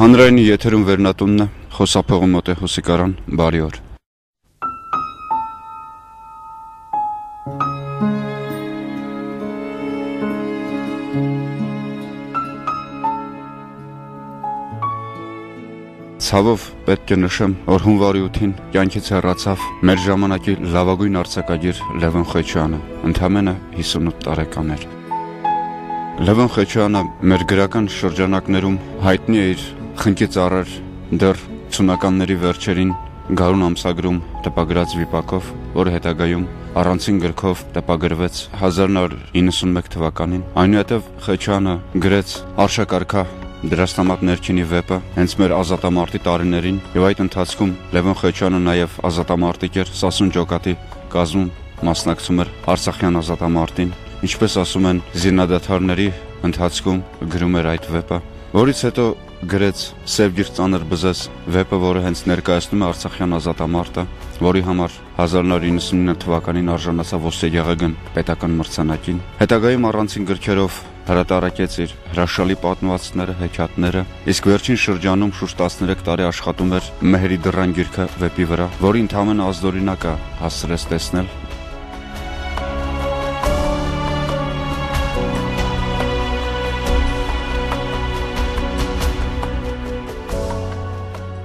Հանրայինի եթերում վերնատունն է, խոսափողում մոտ է Հուսիկարան, բարի օր։ Ցավով պետք է նշեմ, որ հունվարի 8-ին կյանքից հեռացավ մեր ժամանակի լավագույն արձակագիր Լևոն Խեչյանը, ընդամենը 58 տարեկան էր։ Լևոն Խեչյանը մեր գրական շրջանակներում հայտնի է իր խնկի ծառեր դեռ 80-ականների վերջերին Գարուն ամսագրում տպագրած վիպակով, որը հետագայում առանցին գրքով տպագրվեց 1991 թվականին։ Այնուհետև Խեչյանը գրեց Արշակարգա Դրաստամատ ներքինի վեպը հենց մեր ազատամարտի տարիներին, եւ այդ ընթացքում Լևոն Խեչյանը նաև ազատամարտիկ էր, Սասուն ջոկատի կազմում մասնակցում էր Արցախյան ազատամարտին, ինչպես ասում են, զինադադարների ընթացքում գրում էր այդ վեպը, որից հետո գրեց Սև գիրք ծանր բզես վեպը, որը հենց ներկայացնում է Արցախյան ազատամարտը, որի համար 1999 թվականին արժանացավ Ոսկեգեղեգն պետական մրցանակին։ Հետագայում առանցին գրքերով հրատարակեց իր հրաշալի պատմվածքները, հեքիաթները, իսկ վերջին շրջանում շուրջ 13 տարի աշխատում էր Մեհերի դռան գիրքը վեպի վրա, որի ընդամենը ազդօրինակը հասցրեց տեսնել։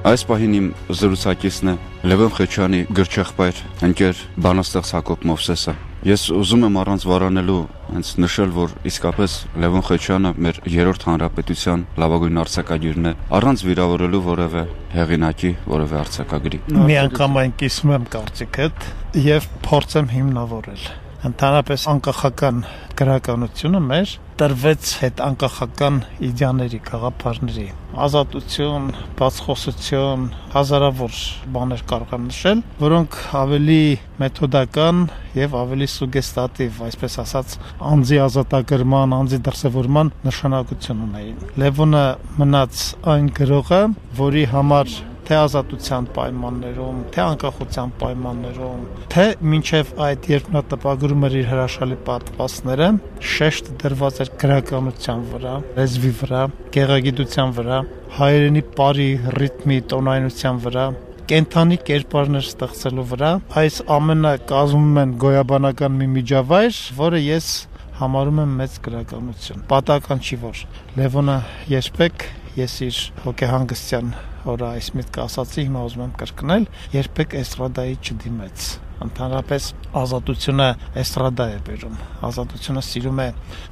Այս պահին իմ զրուցակիցն է Լևոն Խեչյանի գրչեղբայր, ընկեր բանաստեղծ Հակոբ Մովսեսը։ Ես ուզում եմ առանց վարանելու հենց նշել, որ իսկապես Լևոն Խեչյանը մեր երրորդ հանրապետության լավագույն արձակագիրն է, առանց վիրավորելու որևէ հեղինակի, որևէ արձակագրի։ Մի անգամ այն կիսում եմ կարծիքդ եւ փորձեմ հիմնավորել։ Ընդհանրապես անկախական գրականությունը մեր տրվեց հետ անկախական իդեաների, գաղափարների, ազատություն, բացխոսություն, հազարավոր բաներ կարող եմ նշել, որոնք ավելի մեթոդական եւ ավելի սուգեստատիվ, այսպես ասած, անձի ազատագրման, անձի դրսևորման նշանակություն ունեին։ Լևոնը մնաց այն գրողը, որի համար թե ազատության պայմաններում, թե անկախության պայմաններում, թե մինչև այդ երբ նա տպագրում էր իր հրաշալի պատմվածքները, շեշտ դրված էր գրականության վրա, լեզվի վրա, գեղագիտության վրա, հայերենի պարի, ռիթմի, տոնայնության վրա, կենթանի կերպարներ ստեղծելու վրա։ Այս ամենը կազմում են գոյաբանական մի միջավայր, որը ես համարում եմ մեծ գրականություն։ Պատահական չի, որ Լևոնը երբեք, ես իր հոգեհանգստյան օրը այս միտքը ասացի, հիմա ուզում եմ կրկնել, երբեք էստրադայի չդիմեց։ Ընդհանրապես ազատությունը էստրադա է բերում։ Ազատությունը սիրում է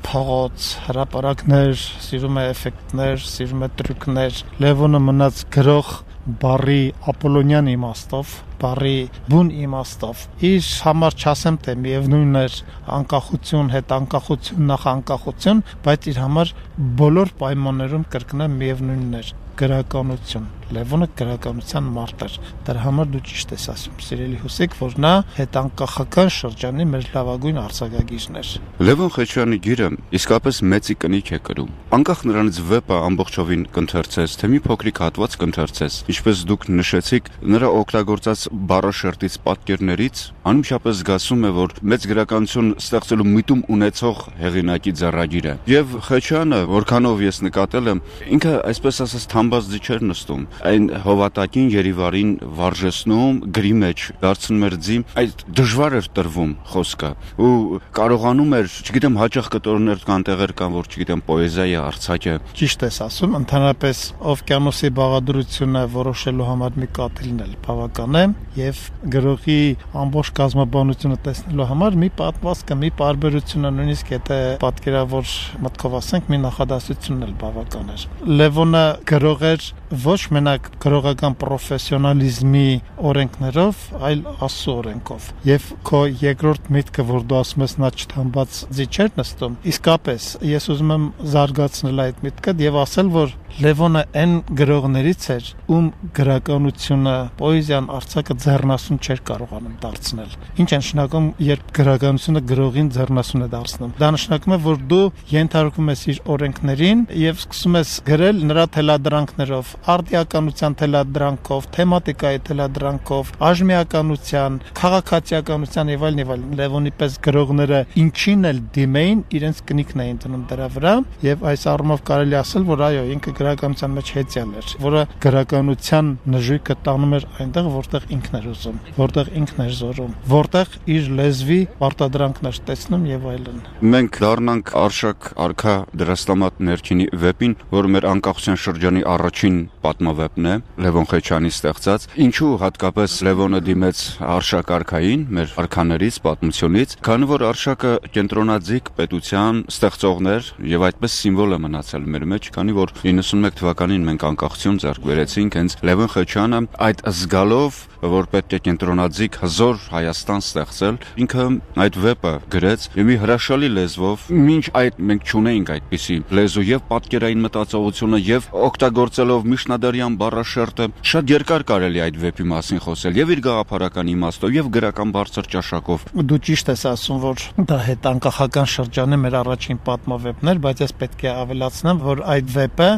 փողոց, հրապարակներ, սիրում է էֆեկտներ, սիրում է տրյուկներ։ Լևոնը մնաց գրող բարի ապոլոնյան իմաստով, բարի բուն իմաստով։ Իր համար չասեմ, թե միևնույն էր անկախություն, հետ անկախություն, նախ անկախություն, բայց իր համար բոլոր պայմաններում կրկնեմ միևնույնն էր գրականություն։ Լևոնը գրականության մարդ էր։ Դրա համար դու ճիշտ ես ասում, սիրելի Հուսիկ, որ նա հետանկախական շրջանի մեր լավագույն արձակագիրն էր։ Լևոն Խեչյանի գիրը իսկապես մեծի կնիք է կրում։ Անկախ նրանից վեպը ամբողջովին կընթերցես, թե մի փոքրիկ հատված կընթերցես, ինչպես դուք նշեցիք, նրա օգտագործած բառաշերտից, պատկերներից անմիջապես զգացում է, որ մեծ գրականություն ստեղծելու միտում ունեցող հեղինակի ձեռագիր է։ Եվ Խեչյանը, որքանով ես նկատել եմ, ինքը այսպես ասած թամբազդի չէր նստում, այն հովատակին երիվարին վարժեցնում, գրի մեջ դարձնում էր ձի, այդ դժվար էր տրվում խոսքը ու կարողանում էր, չգիտեմ, հաճախ կտորներ կան տեղեր կան, որ չգիտեմ, պոեզիայի արձակ է։ Ճիշտ ես ասում, ընդհանրապես Օվկիանոսի բաղադրությունը որոշելու համար մի կաթիլն էլ բավական է եւ գրողի ամբողջ կազմաբանությունը տեսնելու համար մի պատմվածքը, մի պարբերությունը, նույնիսկ եթե պատկերավոր մտքով ասենք, մի նախադասությունն էլ բավական էր։ Լևոնը գրող էր ոչ մենակ գրողական պրոֆեսիոնալիզմի օրենքներով, այլ Աստծո օրենքով։ Եվ քո երկրորդ միտքը, որ դու ասում ես, նա չթամբած ձի չէր նստում, իսկապես ես ուզում եմ զարգացնել այդ միտքը եւ ասել, որ Լևոնը այն գրողներից էր, ում գրականությունը, պոեզիան, արձակը ձեռնասուն չէր կարողանում դարձնել։ Ինչ է նշանակում, երբ գրականությունը գրողին ձեռնասուն է դարձնում։ Դա նշանակում է, որ դու ենթարկում ես իր օրենքներին եւ սկսում ես գրել նրա թելադրանքներով, արդիականության թելադրանքով, թեմատիկայի թելադրանքով, աժմիականության, քաղաքացիականության եւ այլն Լևոնի պես գրողները ինչին էլ դիմեին, իրենց կնիքն էին դնում դրա վրա եւ այս առումով կարելի ասել, որ այո, ինքը գրականության մեջ հեծյալ էր, որը գրականության նժույգը տանում էր այնտեղ, որտեղ ինքն էր ուզում, որտեղ ինքն էր զորում, որտեղ իր լեզվի պարտադրանքն էր տեսնում եւ այլն։ Մենք դառնանք Արշակ արքա դրաստամատ ներքինի վեպին, որը մեր անկախության շրջանի առաջին պատմավեպն է, Լևոն Խեչյանի ստեղծած։ Ինչու հատկապես Լևոնը դիմեց Արշակ արքային, մեր արքաներից, պատմությունից, քանի որ Արշակը կենտրոնաձիգ պետության ստեղծողն էր եւ այդպես սիմվոլ է մնացել մեր մեջ, քանի որ 91 թվականին մենք անկախություն ձեռք բերեցինք, հենց Լևոն Խեչյանը այդ զգալով, որ պետք է կենտրոնաձիգ հզոր Հայաստան ստեղծել, ինքը այդ վեպը գրեց եւ մի հրաշալի լեզվով, մինչ այդ մենք չունեինք այդպիսի լեզու եւ պատկերային մտածողությունը եւ օգտագործելով միջնադարյան բառաշերտը, շատ երկար կարելի այդ վեպի մասին խոսել եւ իր գաղափարական իմաստով եւ գրական բարձր ճաշակով։ Դու ճիշտ ես ասում, որ դա հետանկախական շրջանի մեր առաջին պատմավեպն էր, բայց ես պետք է ավելացնեմ, որ այդ վեպը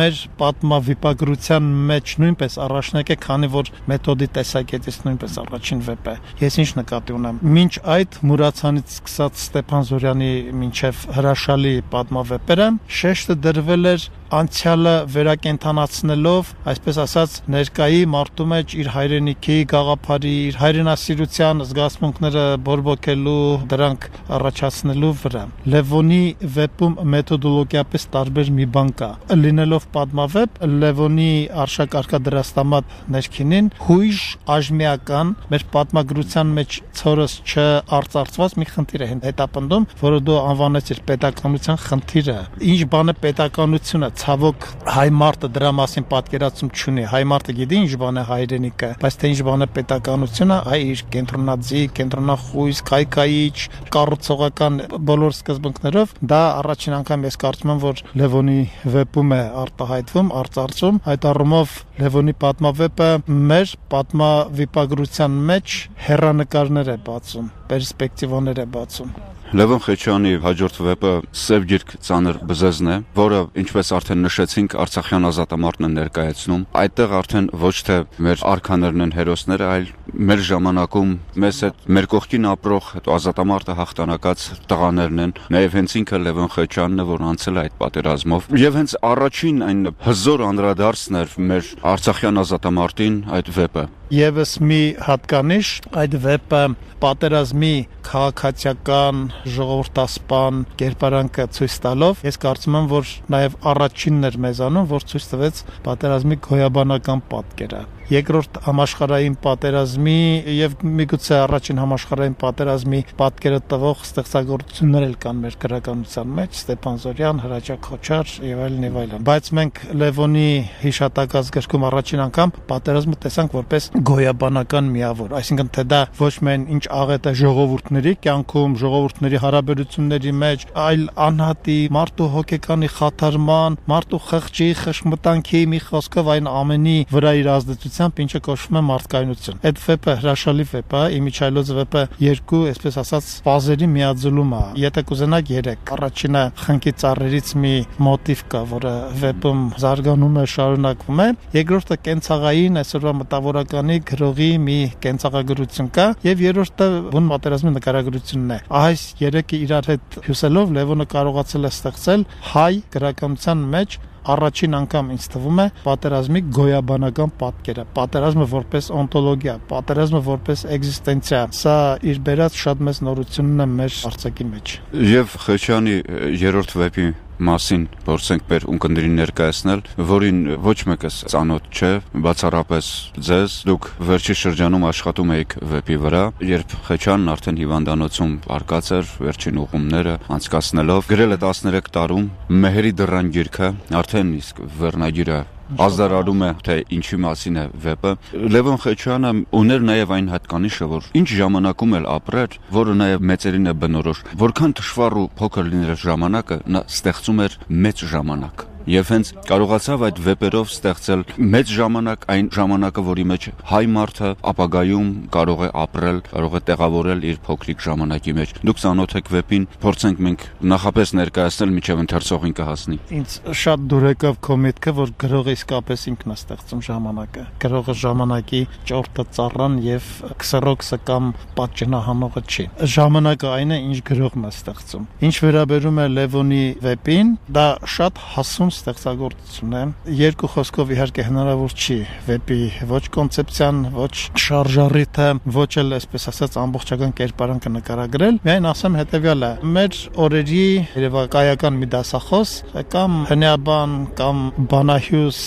մեր պատմավիպագրության մեջ նույնպես առաջնակ է, քանի որ մեթոդի տեսակետից նույնպես առաջին վեպ է։ Ես ինչ նկատի ունեմ։ Մինչ այդ Մուրացյանից սկսած Ստեփան Զորյանի մինչև հրաշալի պատմավեպերը շեշտը դրվել էր անցյալը վերակենդանացնելով, այսպես ասած, ներկայի մարդու մեջ իր հայրենիքի գաղափարի, իր հայրենասիրության զգացմունքները բորբոքելու, դրանք առաջացնելու վրա։ Լևոնի վեպում մեթոդոլոգիապես տարբեր մի բան կա։ Լինելով պատմավեպ, Լևոնի Արշակ արքա դրաստամատ ներքինին հույժ աժմիական մեր պատմագրության մեջ ցորս չարծարծված մի խնդիր է հետապնդում, որը դու անվանեցիր պետականության խնդիրը։ Ինչ բան է պետականությունը, ցավոք հայ մարդը դրա մասին պատկերացում չունի։ Հայ մարդը գիտի ինչ բան է հայրենիքը, բայց թե ինչ բան է պետականությունը, այ իր կենտրոնաձիգ, կենտրոնախույս, քայքայիչ, կառուցողական բոլոր սկզբունքներով, դա առաջին անգամ ես կարծում եմ, որ Լևոնի վեպում է արտահայտվում, արծարծում։ Այդ առումով Լևոնի պատմավեպը մեր պատմավիպագրության մեջ հեռանկարներ է բացում, պերսպեկտիվաներ է բացում։ Լևոն Խեչյանի հաջորդ վեպը Սև գիրք ծանր բզեզն է, որը, ինչպես արդեն նշեցինք, Արցախյան ազատամարտն է ներկայացնում։ Այդտեղ արդեն ոչ թե մեր արքաներն են հերոսները, այլ մեր ժամանակում մեզ հետ մեր կողքին ապրող ազատամարտը հաղթանակած տղաներն են։ Նաև հենց ինքը Լևոն Խեչյանն է, որ անցել է այդ պատերազմով։ Եվ հենց առաջին այն հզոր անդրադարձն էր մեր Արցախյան ազատամարտին այդ վեպը։ Եվս մի հատկանիշ, այդ վեպը պատերազմի քաղաքացիական ժողովրդասպան կերպարանքը ցույց տալով, ես կարծում եմ, որ նաև առաջինն էր մեզանում, որ ցույց տվեց պատերազմի գոյաբանական պատկերը։ Երկրորդ համաշխարհային պատերազմի եւ միգուցե առաջին համաշխարհային պատերազմի պատկերը տվող ստեղծագործություններ էլ կան մեր գրականության մեջ, Ստեփան Զորյան, Հրաչյա Քոչար եւ այլն։ Բայց մենք Լևոնի հիշատակած գրքում առաջին անգամ պատերազմը տեսանք որպես գոյաբանական միավոր, այսինքն թե դա ոչ միայն ինչ աղետ է ժողովուրդների կյանքում, ժողովուրդների հարաբերությունների մեջ, այլ անհատի մարդու հոգեկանի խաթարման, մարդու խղճի, խշմտանքի մի խոսքով այն ամենի վրա իր ազդեցությամբ, ինչը կոչվում է մարդկայնություն։ Այդ վեպը հրաշալի վեպ է, Իմիջայլոց վեպը երկու, այսպես ասած, ֆազերի միաձուլում է։ Եթե կուզենաք 3, առաջինը խնկի ծառերից մի մոտիվ կա, որը վեպում զարգանում է, շարունակվում է։ Երկրորդը կենցաղային, այսօրվա մտավորականի գրողի մի կենցաղագրություն կա, եւ երրորդը բուն պատերազմի նկարագրությունն է։ Այս երեքը իրար հետ հյուսելով Լևոնը կարողացել է ստեղծել հայ գրականության մեջ առաջին անգամ ինձ թվում է պատերազմի գոյաբանական պատկերը, պատերազմը որպես օնտոլոգիա, պատերազմը որպես էգզիստենցիա, սա իր բերած շատ մեծ նորությունն է մեր արձակի մեջ։ Եվ Խեչյանի երրորդ վեպի մասին փորձենք մեր ունկնդրին ներկայացնել, որին ոչ մեկս ծանոթ չէ, բացառապես ձեզ, դուք վերջի շրջանում աշխատում եք վեպի վրա, երբ Խեչյանն արդեն հիվանդանոցում արկած էր, վերջին ուղումները անցկացնելով, գրել է 13 տարում Մեհերի դռան գիրքը, արդեն իսկ վերնագիրը ազդարարում է, թե ինչի մասին է վեպը։ Լևոն Խեչյանը ուներ նաև այն հատկանիշը, որ ինչ ժամանակում էլ ապրեր, որը նաև մեծերին է բնորոշ, որքան դժվար ու փոքր լիներ ժամանակը, նա ստեղծում էր մեծ ժամանակ։ եւ հենց կարողացավ այդ վեպերով ստեղծել մեծ ժամանակ այն ժամանակը, որի մեջ հայ մարդը ապագայում կարող է ապրել, կարող է տեղավորել իր փոքրիկ ժամանակի մեջ։ Դուք ծանոթ եք վեպին, փորձենք մենք նախապես ներկայացնել, մինչև ընթերցողին կհասնի։ Ինձ շատ դուր եկավ քո միտքը, որ գրողը իսկապես ինքն է ստեղծում ժամանակը։ Գրողը ժամանակի ճորտը ծառան եւ քսերոքսը կամ պատճենահանողը չի։ Ժամանակը այն է, ինչ գրողն է ստեղծում։ Ինչ վերաբերում է Լևոնի վեպին, դա շատ հասուն ստեղծագործություն է։ Երկու խոսքով իհարկե հնարավոր չի վեպի ոչ կոնցեպցիան, ոչ շարժառիթը, ոչ էլ այսպես ասած ամբողջական կերպարանքը նկարագրել։ Միայն ասեմ հետեւյալը. մեր օրերի երևակայական մի դասախոս կամ հնեաբան կամ բանահյուս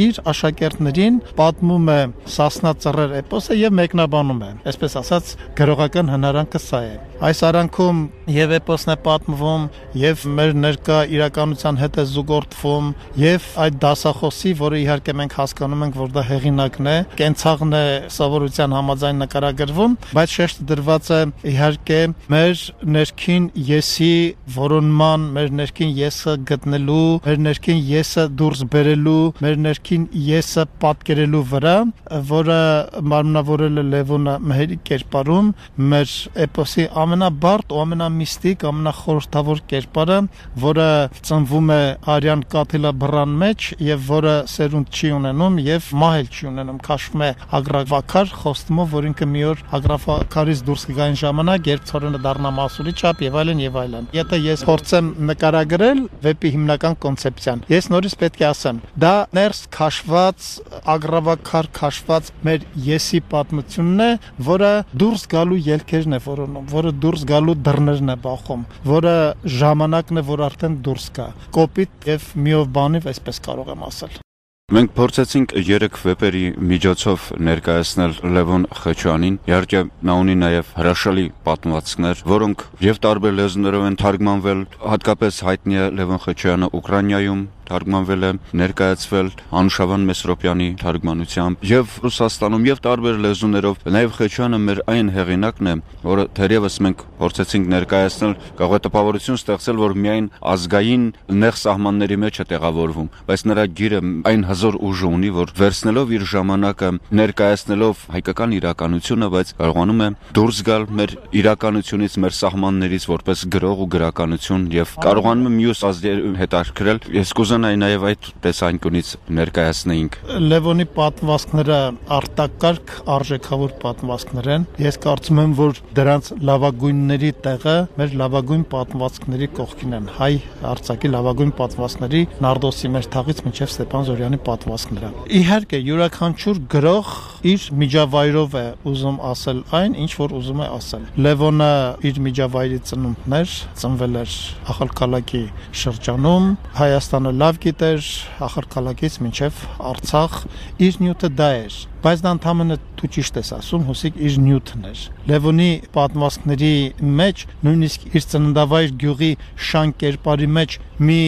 իր աշակերտներին պատմում է Սասնա ծռեր էպոսը եւ մեկնաբանում է։ Այսպես ասած գրողական հնարանքը սա է։ Այս արանքում եւ էպոսն է պատմվում, եւ մեր ներկա իրականության հետ է զուգորդվում, եւ այդ դասախոսի, որը իհարկե մենք հասկանում ենք, որ դա հեղինակն է, կենցաղն է սովորության համաձայն նկարագրվում, բայց շեշտը դրված է իհարկե մեր ներքին եսի որոնման, մեր ներքին եսը գտնելու, մեր ներքին եսը դուրս բերելու, մեր ներքին եսը պատկերելու վրա, որը մարմնավորել է Լևոնը Մեհերի կերպարում, մեր էպոսի ամենաբարդ ու ամենամիստիկ, ամենախորհրդավոր կերպարը, որը ծնվում է արյան կաթիլաբռան մեջ եւ որը սերունդ չի ունենում եւ մահել չի ունենում, քաշվում է ագրավակար խոստումով, որ ինքը մի օր ագրավակարից դուրս կգա այն ժամանակ, երբ ցորենը դառնա մասուրի չափ եւ այլն եւ այլն։ Եթե ես փորձեմ նկարագրել վեպի հիմնական կոնցեպցիան, ես նորից պետք է ասեմ, դա ներս քաշված, ագրավակար քաշված մեր եսի պատմությունն է, որը դուրս գալու ելքերն է որոնում, որը դուրս գալու դռներն է բախում, որը ժամանակն է, որ արդեն դուրս գա։ Կոպիտ եւ միով բանիվ այսպես կարող եմ ասել։ Մենք փորձեցինք 3 վեպերի միջոցով ներկայացնել Լևոն Խեչյանին։ Իհարկե նա ունի նաև հրաշալի պատմվածքներ, որոնք եւ տարբեր լեզուներով են թարգմանվել, հատկապես հայտնի է Լևոն Խեչյանը Ուկրաինայում թարգմանվել է, ներկայացվել Անուշավան Մեսրոպյանի թարգմանությամբ եւ Ռուսաստանում եւ տարբեր լեզուներով։ Նաեւ Խեչյանը մեր այն հեղինակն է, որը թերևս մենք փորձեցինք ներկայացնել, կարող է տպավորություն ստեղծել, որ միայն ազգային նեղ սահմանների մեջ է տեղավորվում, բայց նրա գիրը այն հզոր ուժ ունի, որ վերցնելով իր ժամանակը, ներկայացնելով հայկական իրականությունը, բայց կարողանում է դուրս գալ մեր իրականությունից, մեր սահմաններից որպես գրող ու գրականություն եւ կարողանում է մյուս ազգերի հետ արկրել։ Ես կուզենայի նաեւ այդ տեսանկյունից ներկայացնեինք։ Լևոնի պատմվածքները արտակարգ արժեքավոր պատմվածքներ են։ Ես կարծում եմ, որ դրանց լավագույնների տեղը մեր լավագույն պատմվածքների կողքին են։ Հայ արձակի լավագույն պատմվածքների Նարդոսի Մերթաղից մինչև Ստեփան Զորյանի պատմվածքները։ Իհարկե, յուրաքանչյուր գրող իր միջավայրով է ուզում ասել այն, ինչ որ ուզում է ասել։ Լևոնը իր միջավայրի ծնունդն էր, ծնվել էր Ախալքալակի շրջանում, Հայաստանը լավ գիտեր, Ախալքալակից մինչև Արցախ, իր նյութը դա էր, բայց դա ընդհանրապես դու ճիշտ ես ասում, հուսիկ իր նյութն էր։ Լևոնի պատմվածքների մեջ, նույնիսկ իր ծննդավայր գյուղի շան կերպարի մեջ մի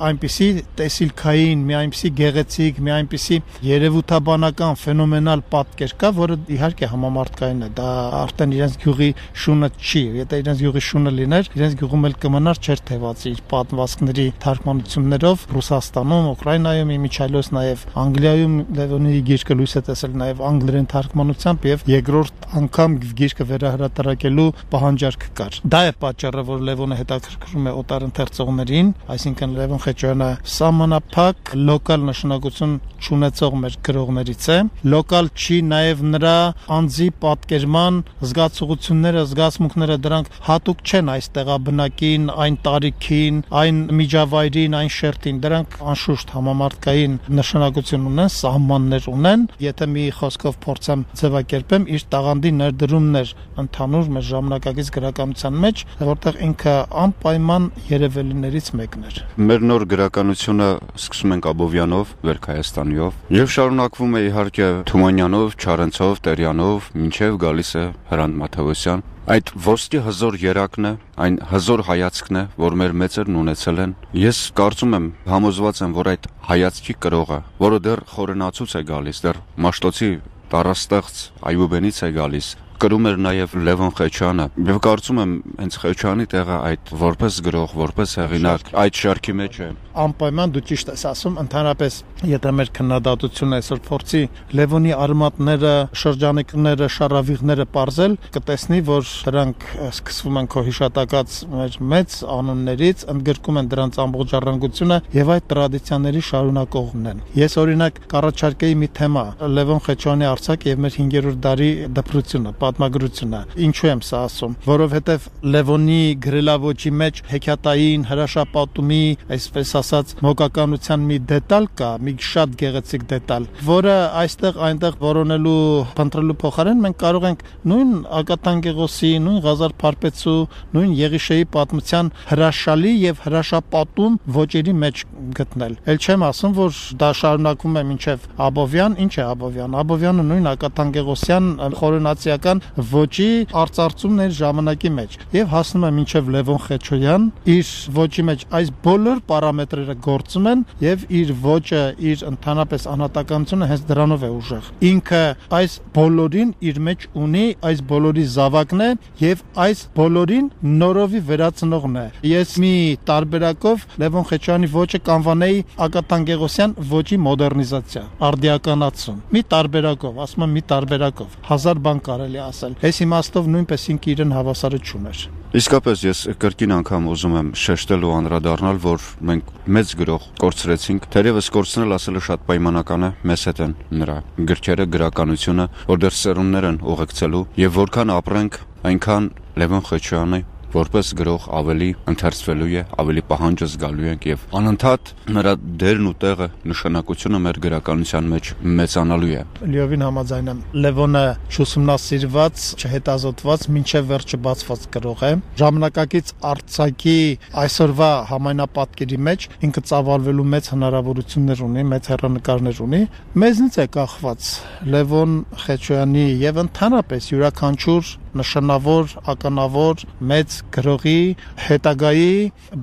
այնպիսի տեսիլքային, մի այնպիսի գեղեցիկ, մի այնպիսի երևութաբանական ֆենոմենալ պատկեր կա, որը իհարկե համամարտկային է, դա արդեն իրենց գյուղի շունը չի, եթե իրենց գյուղի շունը լիներ, իրենց գյուղում էլ կմնար չէր թևածի իր պատմվածքների թարգմանություններով Ռուսաստանում, Ուկրաինայում, իմիջիայլոց նաև Անգլիայում Լևոնի գիրքը լույս է տեսել նաև անգլերեն թարգմանությամբ եւ երկրորդ անգամ գիրքը վերահրատարակելու պահանջարկ կար։ Դա է պատճառը, որ Լևոնը հետաքրքրում է օտար ընթերցողներին, այսինքն Լևոն Խեչյանը սահմանափակ լոկալ նշանակություն չունեցող մեր գրողներից է։ Լոկալ չի նաև նրա անձի պատկերման զգացողությունները, զգացմունքները, դրանք հատուկ չեն այս տեղաբնակին, այն տարիքին, այն միջավայրին, այն շերտին, դրանք անշուշտ համամարտկային նշանակություն ունեն, սահմաններ ունեն։ Եթե մի խոսքով փորձեմ ձևակերպեմ, իր տաղանդի ներդրումներ ընդհանուր մեր ժամանակակից գրականության մեջ, որտեղ ինքը անպայման երևելիներից մեկն էր։ Մեր նոր գրականությունը սկսում ենք Աբովյանով, Վերք-Հայաստանիով եւ շարունակվում է իհարկե Թումանյանով, Չարենցով, Տերյանով, մինչեւ գալիս է Հրանտ Մաթեոսյան։ Այդ ոսկի հզոր երակն է, այն հզոր հայացքն է, որ մեր մեծերն ունեցել են։ Ես կարծում եմ, համոզված եմ, որ այդ հայացքի կրողը, որը դեռ խորենացուց է գալիս, դեռ Մաշտոցի տառաստեղծ Այյուբենից է գալիս, կրում էր նաև Լևոն Խեչյանը։ Եվ կարծում եմ, հենց Խեչյանի տեղը այդ որպես գրող, որպես հեղինակ այդ շարքի մեջ է։ անպայման դու ճիշտ ես ասում, ընդհանրապես եթե մեր քննադատությունը այսօր փորձի Լևոնի արմատները, շրջանիկները, շարավիղները պարզել, կտեսնի, որ դրանք սկսվում են քո հիշատակած մեր մեծ անուններից, ընդգրկում են դրանց ամբողջ ժառանգությունը եւ այդ տրադիցիաների շարունակողն են։ Ես օրինակ կառաջարկեի մի թեմա՝ Լևոն Խեչյանի արձակ եւ մեր 5-րդ դարի դպրությունը, պատմագրությունը։ Ինչու եմ սա ասում, որովհետեւ Լևոնի գրելավոճի մեջ հեքիաթային հրաշապատումի, այսպես ասած, մոգականության մի դետալ կա, մի շատ գեղեցիկ դետալ, որը այստեղ այնտեղ որոնելու, փնտրելու փոխարեն մենք կարող ենք նույն Ակաթան Գեղոսի, նույն Ղազար Փարպեցու, նույն Եղիշեի պատմության հրաշալի եւ հրաշապատում ոճերի մեջ գտնել։ Էլ չեմ ասում, որ դա շարունակվում է մինչեւ Աբովյան, ինչ է Աբովյան։ Աբովյանը նույն Ակաթան Գեղոսյան խորենացիական ոճի արծարծումն էր ժամանակի մեջ եւ հասնում է մինչեւ Լևոն Խեչոյան, իր ոճի մեջ այս բոլոր պարամետրերը գործում են եւ իր ոճը, իր ընդհանրապես անհատականությունը հենց դրանով է ուժեղ։ Ինքը այս բոլորին իր մեջ ունի, այս բոլորի զավակն է եւ այս բոլորին նորովի վերացնողն է։ Ես մի տարբերակով Լևոն Խեչյանի ոճը կանվանեի Ակաթան Գեղոսյան ոճի մոդեռնիզացիա, արդիականացում։ Մի տարբերակով, ասում եմ մի տարբերակով, հազար բան կարելի ասել։ Այս իմաստով նույնպես ինքը իրեն հավասարը չուներ։ Իսկապես ես կրկին անգամ ուզում եմ շեշտել ու անդրադառնալ, որ մենք մեծ գրող կորցրեցինք, թերևս կորցնել ասելը շատ պայմանական է, մեզ հետ են նրա գրքերը, գրականությունը, որ դեռ սերունդներ են ուղեկցելու եւ որքան ապրենք, այնքան Լևոն Խեչյանը որպես գրող ավելի ընթերցվելու է, ավելի պահանջը զգալու ենք եւ անընդհատ նրա դերն ու տեղը, նշանակությունը մեր գրականության մեջ մեծանալու է։ Լիովին համաձայն եմ։ Լևոնը չուսումնասիրված, չհետազոտված, մինչև վերջը բացված գրող է։ Ժամանակակից արձակի այսօրվա համայնապատկերի մեջ ինքը ծավալվելու մեծ հնարավորություններ ունի, մեծ հեռանկարներ ունի։ Մեզնից է կախված Լևոն Խեչյանի եւ ընդհանրապես յուրաքանչյուր նշանավոր, ականավոր, մեծ գրողի հետագայի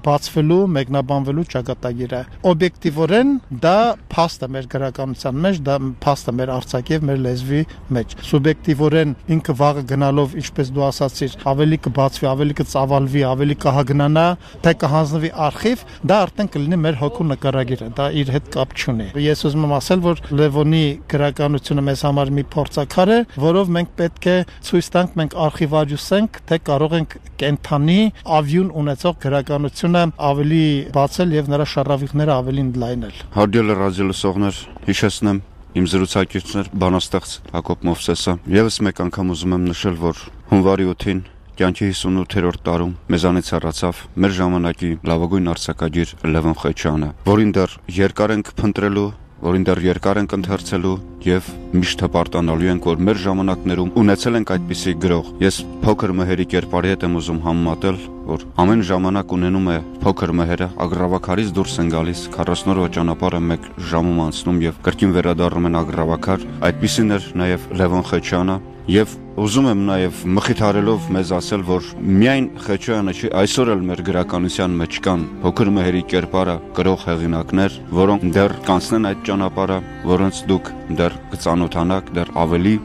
բացվելու, մեկնաբանվելու ճակատագիրը։ Օբյեկտիվորեն դա փաստ է մեր գրականության մեջ, դա փաստ է մեր արձակի եւ մեր լեզվի մեջ։ Սուբյեկտիվորեն ինքը վաղը գնալով, ինչպես դու ասացիր, ավելի կբացվի, ավելի կծավալվի, ավելի կհագնանա, թե կհանձնվի արխիվ, դա արդեն կլինի մեր հոգու նկարագիրը, դա իր հետ կապ չունի։ Ես ուզում եմ ասել, որ Լևոնի գրականությունը մեզ համար մի փորձաքար է, որով մենք պետք է ցույց տանք, մենք արխիվարիուսենք, թե կարող ենք կենթանի ավյուն ունեցող գրականությունը ավելի բացել եւ նրա շարավիղները ավելի ընդլայնել։ Հարգելի ռադիոլսողներ, հիշեցնեմ իմ զրուցակիցներ բանաստեղծ Հակոբ Մովսեսը։ Եվս մեկ անգամ ուզում եմ նշել, որ հունվարի 8-ին կյանքի 58-րդ տարում մեզանից հեռացավ մեր ժամանակի լավագույն արձակագիր Լևոն Խեչյանը, որին դեռ երկար ենք փնտրելու, որին դեռ երկար ենք ընթերցելու եւ միշտ հպարտանալու ենք, որ մեր ժամանակներում ունեցել ենք այդպիսի գրող։ Ես փոքր մհերի կերպարի հետ եմ ուզում համեմատել, որ ամեն ժամանակ ունենում է փոքր մհերը, ագրավակարից դուրս են գալիս, 40 օրվա ճանապարհը 1 ժամում անցնում եւ կրկին վերադառնում են ագրավակար։ Այդպիսին էր նաեւ Լևոն Խեչյանը եւ ուզում եմ նաեւ մխիթարելով մեզ ասել, որ միայն Խեչյանը չի, այսօր էլ մեր գրականության մեջ կան փոքր մհերի կերպարը գրող հեղինակներ, որոնք դեռ կանցնեն այդ ճանապարհը, որոնց դուք դեռ կծանոթանաք, դեռ ավելի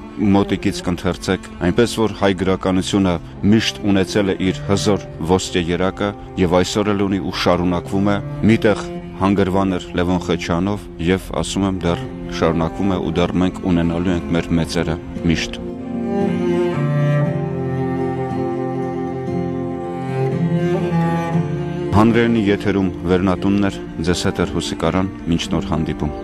մոտիկից կընթերցեք, այնպես որ հայ գրականությունը միշտ ունեցել է իր հզոր ոսկե երակը եւ այսօր էլ ունի ու շարունակվում է։ Միտեղ հանգրվան էր Լևոն Խեչյանով եւ ասում եմ դեռ շարունակվում է ու դեռ մենք ունենալու ենք մեր մեծերը միշտ։ Հանրայինի եթերում վերնատունն էր, ձեզ հետ էր Հուսիկ Արան, մինչ նոր հանդիպում։